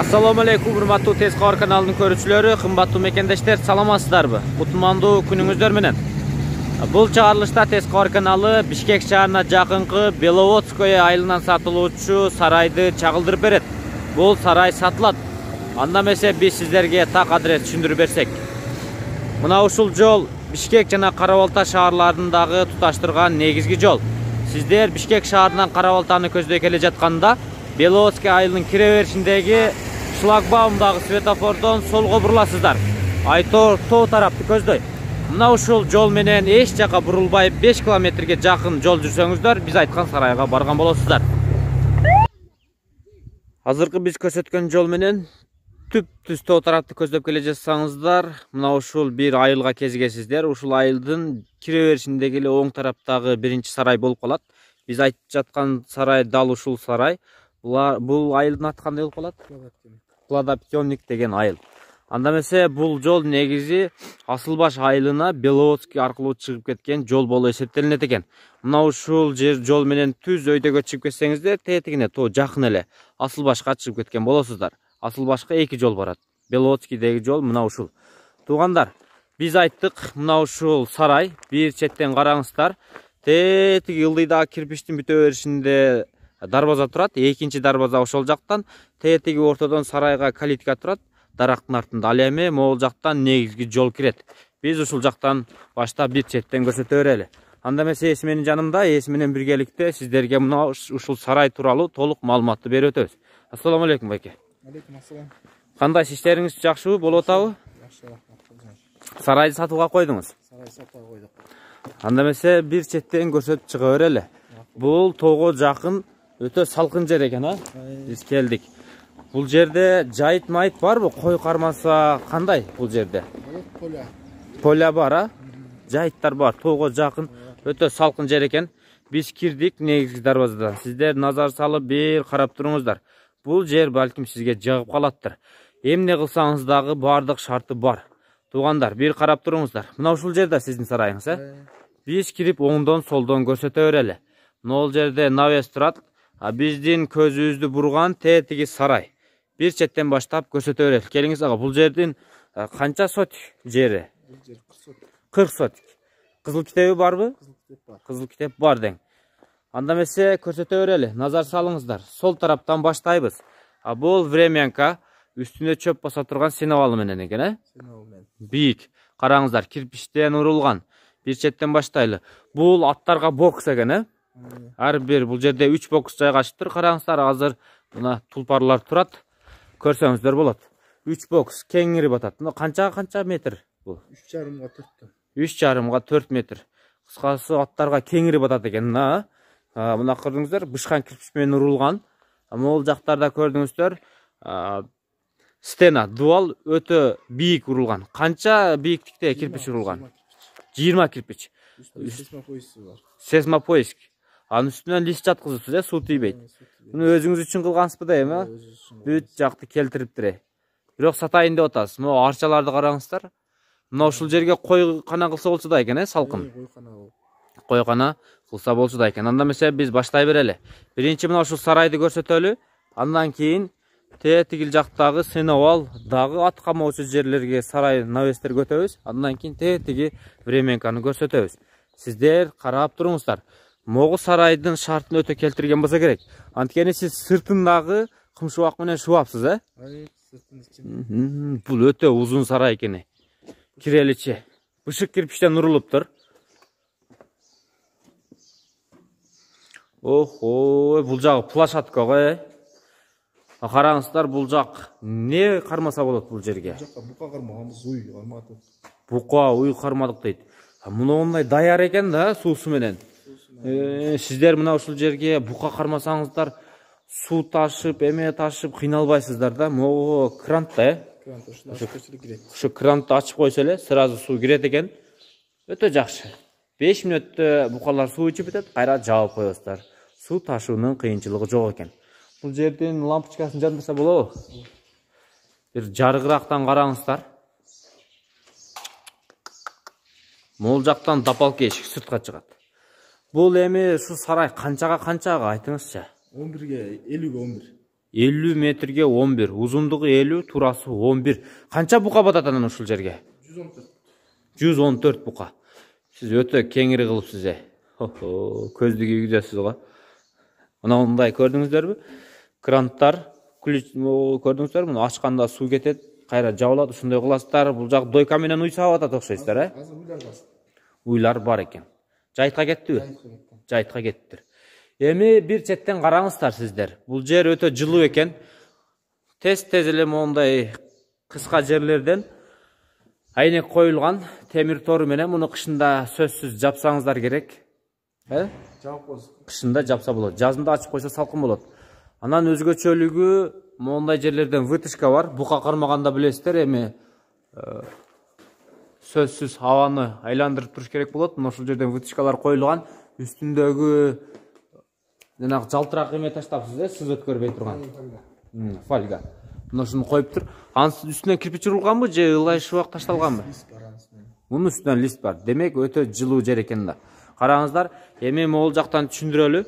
Assalamu alaikum, hurmatly Tezkor kanalının көрүүчүлөрү, кымбаттуу мекендештер, саламатсыздарбы? Кутмандуу күнүңүздөр менен. Бул чыгарылышта Tezkor каналы Бишкек шаарына жакынкы Беловодское айылынан сатылуучу сарайды чагылдырып берет. Бул сарай сатылат. Анда эмесе биз сиздерге так адрес түшүндүрүп берсек. Мына ушул жол Бишкек жана Кара-Балта шаарларындагы туташтырган негизги жол. Сиздер Бишкек шаарынан Кара-Балтаны көздөй келе жатканда Беловодское айылынын кире беришиндеги шлагбаумдагы светофордон солго буруласыздар. Айтор тоо тарапты көздөй. Мына ушул жол менен эч жака бурулбай 5 километрге жакын жол жүрсөңүздөр, биз айткан сарайга барган болосуздар. Азыркы биз көрсөткөн жол менен түп-түз тоо тарапты көздөп келе жатсаңыздар, мына ушул бир айылга кезигесиздер. Ушул айылдын кире беришиндеги эле оң тараптагы биринчи сарай болуп калат. Биз айтып жаткан сарай дал ушул сарай. Бул айылдын аты кандай болуп калат? Плодопьённик деген айыл. Анда эмесе бул жол негизи Асылбаш айылына Беловодский аркылуу чыгып кеткен жол болуп эсептелинет экен. Мына ушул жол менен түз өйдөгө чыгып кетсеңиздер, тетигине тоо жакын эле Асылбашка чыгып кеткен болосуздар. Асылбашка 2 жол барат. Беловодскийдеги жол мына ушул. Туугандар, биз айттык, мына ушул сарай, бир четтен караңыздар. Тетиги ылдыйдагы кирпичтин бүтө беришинде дарбаза турат, экинчи дарбаза ошол жактан, тетиги ортодон сарайга калитка турат, дарактын артында. Ал эми могул жактан негизги жол кирет. Биз ушул жактан баштап бир четтен көрсөтө берели. Анда эмесе эси менин жанымда, эси менен биргеликте сиздерге мына ушул сарай тууралуу толук маалыматты берип өтөбүз. Ассаламу алейкум байке. Алейкум ассалам. Кандай иштериңиз жакшыбы, болуп атабы? Жакшы, рахмат. Сарайды сатууга койдуңуз. Сарай сатууга койдук. Анда эмесе бир четтен көрсөтүп чыга берели. Бул тоого жакын өтө салкын жер экен, а? Биз келдик. Бул жерде жайыт майыт барбы? Кой кармаса кандай бул жерде? Поля. Поля бар, а? Жайыттар бар. Тоого жакын өтө салкын жер экен. Биз кирдик негизги дарбазадан. Сиздер назар салып бир карап туруңуздар. Бул жер балким сизге жагып калаттыр. Эмне кылсаңыз дагы бардык шарты бар. Туугандар, бир карап туруңуздар. Мына ушул жерде сиздин сарайыңыз, Биз кирип оңдон солдон көрсөтө берели. Могул жерде навес турат. Биздин көзүбүздү бурган тетиги сарай. Бир четтен баштап көрсөтө берели. Келиңиз ага, бул жердин канча сотик жери? Бул жер 40 сотик. 40 сотик. Кызыл китеби барбы? Кызыл китеп бар. Кызыл китеп бар дең. Анда эмесе көрсөтө берели. Назар салыңыздар. Сол тараптан баштайбыз. Бул времянка, үстүнө чөп баса турган сеновалы менен экен, Сеновал менен. Бийик. Караңыздар, кирпичтен урулган. Бир четтен баштайлы. Бул аттарга бокс экен, Ар бир бул жерде 3 бокс жайгашыптыр. Караңыздар, азыр мына тулпарлар турат. Көрсөңүздөр болот. 3 бокс кеңири батат. Мына канча метр бул? 3,5 га 4. 3,5 га 4 метр. Кыскасы аттарга кеңири батат экен, Мына көрдүңүздөр, бышкан кирпич менен урулган. Могул жактарда көрдүңүздөр, стена, дуал өтө бийик урулган. Канча бийиктикте кирпич урулган? 20 кирпич. Сейсмопоиски бар. Сейсмопоиск. Анын үстүнөн лист жаткызыпсыз, суу тийбейт. Муну өзүңүз үчүн кылгансызбы дейм, Бүт жакты келтириптир. Бирок сатайын деп атасыз. Могу арчаларды караңыздар. Мына ушул жерге койкана кылса болчу да экен, салкын. Койкана болуп. Койкана кылса болчу да экен. Анда эмесе биз баштай берели. Биринчи мына ушул сарайды көрсөтөлү. Андан кийин тетигил жактагы сеновал дагы ат камоочу жерлерге сарай навестерге өтөбүз. Андан кийин тетиги времянканы көрсөтөбүз. Сиздер карап туруңуздар. Могу сарайдын шартын өтө келтирген болсо керек. Анткени сиз сыртындагы кымшыбак менен шубапсыз, Сыртын ичин. Бул өтө узун сарай экен. Киреличи. Бышык кирпичтен урулуптур. Охо, бул жагы площадка го, Караңыздар, бул жак не кармаса болот бул жерге? Жакка бука кармаганбыз, уй кармадык. Бука, уй кармадык дейт. Муну даяр экен суусу менен. Сиздер мына ушул жерге бука кармасаңыздар, суу ташып, эме ташып кыйналбайсыздар да. Могу крант да, Крант ушул ачып кирет. Ушу крантты ачып койсо эле, сразу суу кирет экен. Өтө жакшы. 5 мүнөттө букалар суу ичип кетет, кайра жаап коесуздар. Суу ташуунун кыйынчылыгы жок экен. Бул жердин лампочкасын жандырса болобу? Бир жарыгырактан караңыздар. Могул жактан дапалка эшик сыртка чыгат. Бул эми ушу сарай канчага айтыңызчы? 11 ге 50 ге 11. 50 метрге 11, узундугу 50, турасы 11. Канча бука батат анан ушул жерге? 114. 114 бука. Сиз өтө кеңири кылыпсыз. Көздү кийгизесиз го. Мындай көрдүңүздөрбү? Кранттар, көрдүңүздөрбү? Муну ачканда суу кетет, кайра жабылат, ушундай кыласыздар. Бул жак дойка менен уй саап атат окшойсуздар, Азыр уйлар бар. Уйлар бар экен. Жайтка кеттиби? Жайтка кеттиптир. Эми бир четтен караңыздар сиздер. Бул жер өтө жылуу экен. Тез эле мондай кыска жерлерден айнек коюлган темир тору менен муну кышында сөзсүз жапсаңыздар керек. Жаап коесуз. Кышында жапса болот. Жазында ачып койсо салкын болот. Анан өзгөчөлүгү мондай жерлерден вытяжка бар. Бука кармаганда билесиздер, эми сөзсүз абаны айландырып туруш керек болот. Мына ушул жерден вытяжкалар коюлган. Үстүндөгү жанагы жалтырак эме таштапсыз, сыз өткөрбөй турган. Фольга. Мына ушуну коюптур. Анын үстүнөн кирпич урулганбы же ылай шубак ташталганбы? Мунун үстүнөн лист бар. Демек өтө жылуу жер экен да. Караңыздар, эми могул жактан түшүндүрөлү.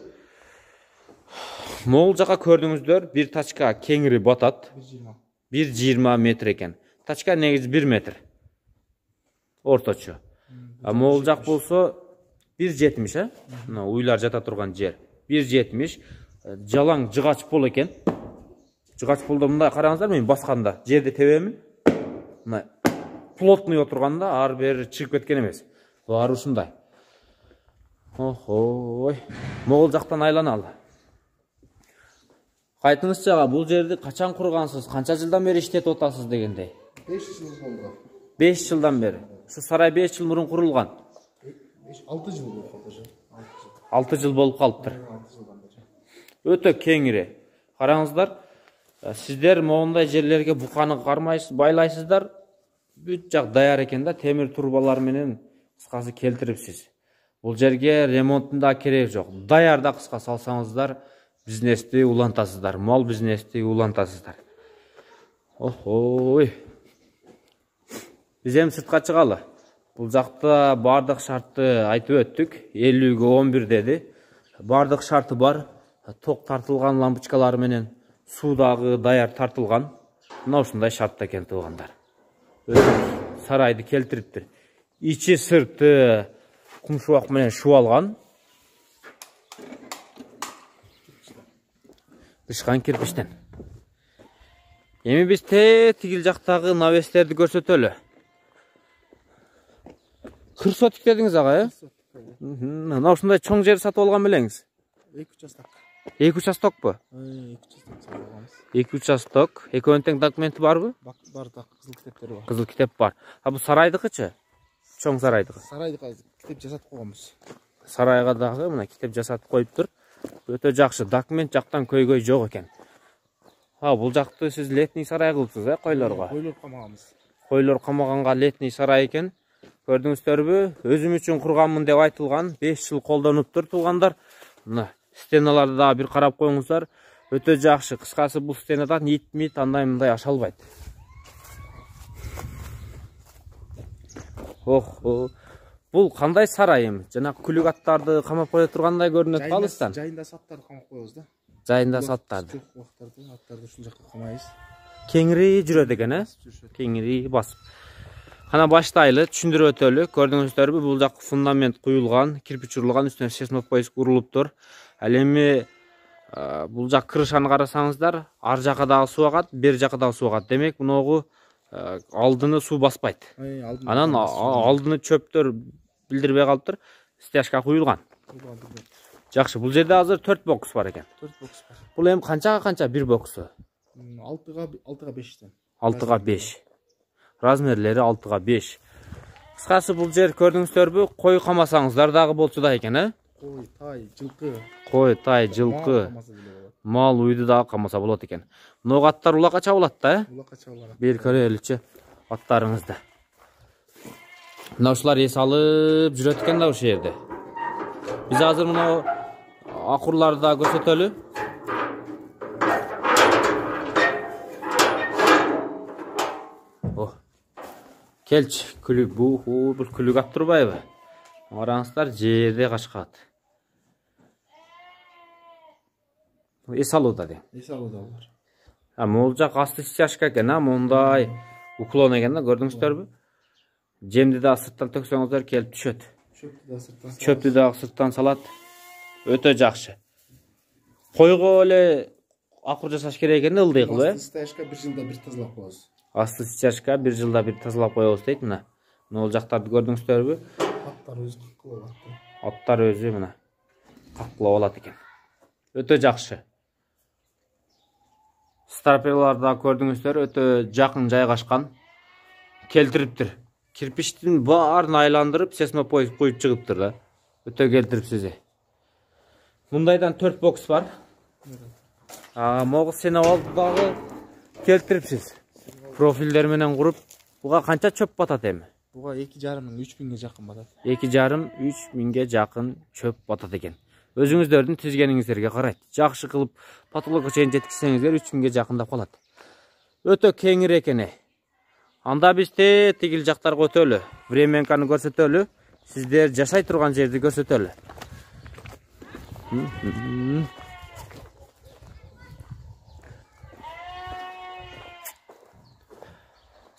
Могул жака көрдүңүздөр, бир тачка кеңири батат. 1,20 метр экен. Тачка негизи 1 метр. Орточо. А могул жак болсо 1,70, Мына уйлар жата турган жер. 1,70. Жалаң жыгач пол экен. Жыгач полдо мындай караңыздар, мен басканда жерди тебемин. Мына плотный отурганда ар бери чыгып кеткен эмес. Баары ушундай. Ой. Могул жактан айланалы. Кайтыңызчы ага, бул жерди качан кургансыз? Канча жылдан бери иштетип атасыз дегендей? 5 жыл болду. 5 жылдан бери. Ушу сарай 5 жыл мурун курулган. 6 жыл болуп калды. 6 жыл болуп калыптыр. Өтө кеңири. Караңыздар, сиздер моундай жерлерге буканы кармайсыз, байлайсыздар. Бүт жак даяр экен да, темир турбалар менен кыскасы келтирипсиз. Бул жерге ремонтунда кереги жок. Даярда кыска салсаңыздар, бизнести улантасыздар, мал бизнести улантасыздар. Ой. Биз эми сыртка чыгалы. Бул жакта бардык шартты айтып өттүк. 50-ге 11 деди. Бардык шарты бар. Ток тартылган лампочкалар менен суу дагы даяр тартылган. Мына ушундай шартта экен туугандар. Сарайды келтириптир. Ичи сырты кумшубак менен шубалган. Дышкан кирпичтен. Эми биз тигил жактагы навестерди көрсөтөлү. Кыр сотик дедиңиз ага, Мына ушундай чоң жер сатып алган белеңиз? 2 участок. 2 участокпу? 2 участок алганбыз. 2 участок. Экөөнүн тең документи барбы? Бар, кызыл китептери бар. Кызыл китеп бар. А бул сарайдыкычы? Чоң сарайдыкы. Сарайдыкы китеп жасатып койгонбуз. Сарайга дагы мына китеп жасатып коюптур. Өтө жакшы, документ жактан көйгөй жок экен. Бул жакты сиз летний сарай кылыпсыз, койлорго? Койлор камаганбыз. Койлор камаганга летний сарай экен. Көрдүңүздөрбү? Өзүм үчүн курганмын деп айтылган. 5 жыл колдонуптур туугандар. Мына стеналарды да бир карап коюңуздар. Өтө жакшы. Кыскасы бул стенадан ит андай мындай аша албайт. Бул кандай сарай эми? Жана күлүк аттарды камап кое тургандай көрүнөт алыстан. Жайында саттарды камап коебуз да. Жайында саттарды. Аттарды ушул жакка камайбыз. Кеңири жүрөт экен, Кеңири басып. Кана баштайлы, түшүндүрүп өтөлү. Көрдүңүздөрбү, бул жак фундамент куюлган, кирпич урулган, үстүнө сесмопоиск урулуптур. Ал эми бул жак крышаны карасаңыздар, ар жака дагы суу агат, бер жака дагы суу агат. Демек, муногу алдыны суу баспайт. Анан алдыны чөптөр билдирбей калыптыр. Стяжка куюлган. Жакшы, бул жерде азыр 4 бокс бар экен. 4 бокс бар. Бул эми канчага бир боксу? 6га 5тен. 6га 5. Размерлери 6га 5. Кыскасы бул жер көрдүңүздөрбү, кой камасаңыздар дагы болчу да экен, Кой, тай, жылкы. Кой, тай, жылкы. Мал, уйду дагы камаса болот экен. Мына аттар улакка чабылат да, Улакка чабылат. Бир көрөлүчү аттарыңызды. Мына ушулар эс алып жүрөт экен да ушул жерде. Биз азыр мына акурларды да көрсөтөлү. Келчи, күлүк бул күлүк ат турбайбы? Караңыздар, жерде качкат. эс алууда дейм. Эс алууда алар. Могул жак асты стяжка экен, мондай уклон экен да, көрдүңүздөрбү? Жемди да сырттан төксөңүздөр келип түшөт. Чөптү да сырттан салат. Өтө жакшы. Койго эле акыр жасаш керек экен да, ылдый кылып, Асты стяжка 1 жылда бир тазалап коебуз. Асты стяжка 1 жылда бир тазалап коебуз дейт мына. Могул жактарды көрдүңүздөрбү? Аттар өзү кылып алат. Аттар өзү мына каклап алат экен. Өтө жакшы. Стропилар да көрдүңүздөр, өтө жакын жайгашкан. Келтириптир. Кирпичтин баарын айландырып, сесмопоид коюп чыгыптыр да. Өтө келтирипсиз. Мындайдан 4 бокс бар. Могул сен алып дагы келтирипсиз. Профилдер менен куруп, буга канча чөп батат эми? Буга 2,5 миң 3 миңге жакын батат. 2,5-3 миңге жакын чөп батат экен. Өзүңүздөрдүн тизгениңиздерге карайт. Жакшы кылып потолокко чейин жеткизсеңиздер 3 миңге жакындап калат. Өтө кеңир экен. Анда биз тигил жактарга өтөлү. Временканы көрсөтөлү. Сиздер жашай турган жерди көрсөтөлү.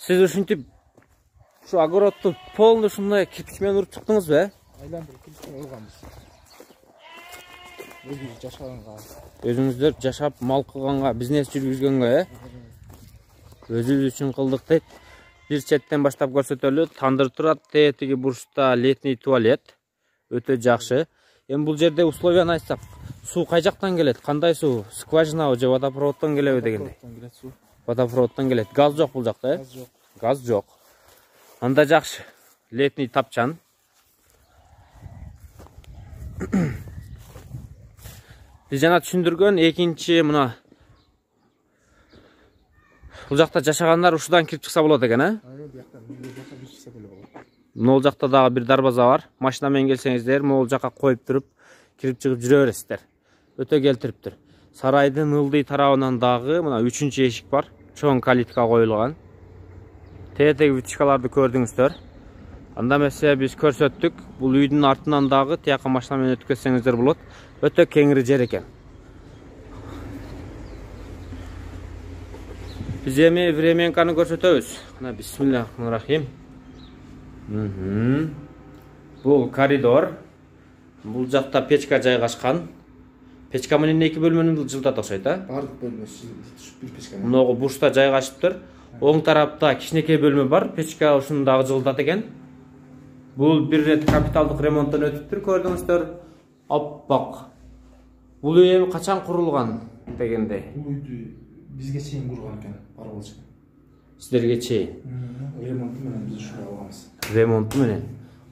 Сиз ушинтип ушу огородду полный ушундай кирпич менен уруп чыктыңызбы? Айландырып кирпич менен урганбыз. Өзүбүз жашаганга. Өзүңүздөр жашап, мал кылганга, бизнес жүргүзгөнгө, өзүбүз үчүн кылдык дейт. Бир четтен баштап көрсөтөлү. Тандыр турат, тиги бурчта летний туалет. Өтө жакшы. Эми бул жерде условияны айтсак, суу кай жактан келет? Кандай суу? Скважина же водопроводдон келеби дегендей? Водопроводдон келет. Газ жок бул жакта, Газ жок. Газ жок. Анда жакшы. Летний тапчан. Биз жана түшүндүргөн экинчи мына бул жакта жашагандар ушудан кирип чыкса болот экен, Могул жакта дагы бир дарбаза бар. Машина менен келсеңиздер, могул жакка коюп туруп, кирип чыгып жүрө бересиздер. Өтө келтириптир. Сарайдын ылдый тарабынан дагы мына 3-чү эшик бар. Чоң калитка коюлган. Теги вытяжкаларды көрдүңүздөр. Анда эмесе биз көрсөттүк. Бул үйдүн артынан дагы тияка машина менен өтүп кетсеңиздер болот. Өтө кеңири жер экен. Биз эми временканы көрсөтөбүз. Мына бисмиллахиррахманиррахим. Бул коридор. Бул жакта печка жайгашкан. Печка менен 2 бөлмөнү жылдат окшойт, Бардык бөлмөсү бир печка. Мынагы бурчта жайгашыптыр. Оң тарапта кичинекей бөлмө бар. Печка ушуну дагы жылдат экен. Бул бир рет капиталдык ремонттон өтүптүр, көрдүңүздөр. Оппак. Бул үй эми качан курулган дегендей? Бул үйдү бизге чейин курган экен, паралчы. Сиздерге чейин. Ремонту менен биз ушуга алганбыз. Ремонту менен.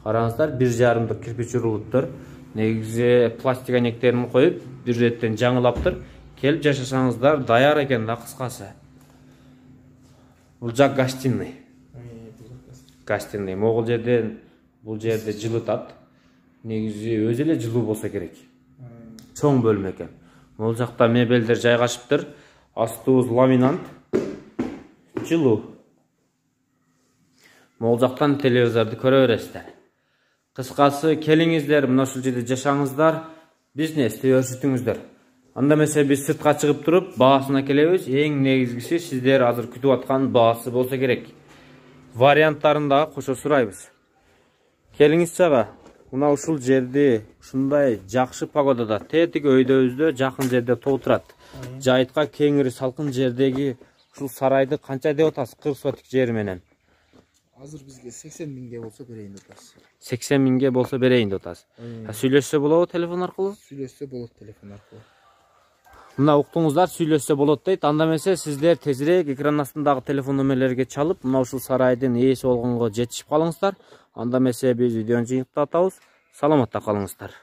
Караңыздар, 1,5 кирпич урулуптур. Негизи пластик анектерин коюп, бир реттен жаңылаптыр. Келип жашасаңыздар даяр экен да, кыскасы. Бул жак гостиный. Гостиный. Могул жерден бул жерде жылытат. Негизи өзү эле жылуу болсо керек. Чоң бөлмө экен. Могул жакта мебелдер жайгашыптыр. Астыбыз ламинант. Жылуу. Могул жактан телевизорду көрө бересиздер. Кыскасы келиңиздер, мына ушул жерде жашаңыздар, бизнести өршүтүңүздөр. Анда эмесе биз сыртка чыгып туруп, баасына келебиз. Эң негизгиси сиздер азыр күтүп аткан баасы болсо керек. Варианттарын дагы кошо сурайбыз. Келиңиз чага. Мына ушул жерди ушундай жакшы погодада, тетиги өйдөбүздө жакын жерде толтурат. Жайытка кеңири салкын жердеги ушул сарайды канча деп атасыз? 40 сотик жер менен. Азыр бизге 80 миңге болсо берейин деп атасыз. 80 миңге болсо берейин деп атасыз. Сүйлөшсө болобу телефон аркылуу? Сүйлөшсө болот телефон аркылуу. Мына уктуңуздар, сүйлөшсө болот дейт. Анда эмесе сиздер тезирээк экран астындагы телефон номерлерге чалып, мына ушул сарайдын ээси болгонго жетишип калыңыздар. Анда эмесе биз видеону жыйынтыктатабыз. Саламатта калыңыздар.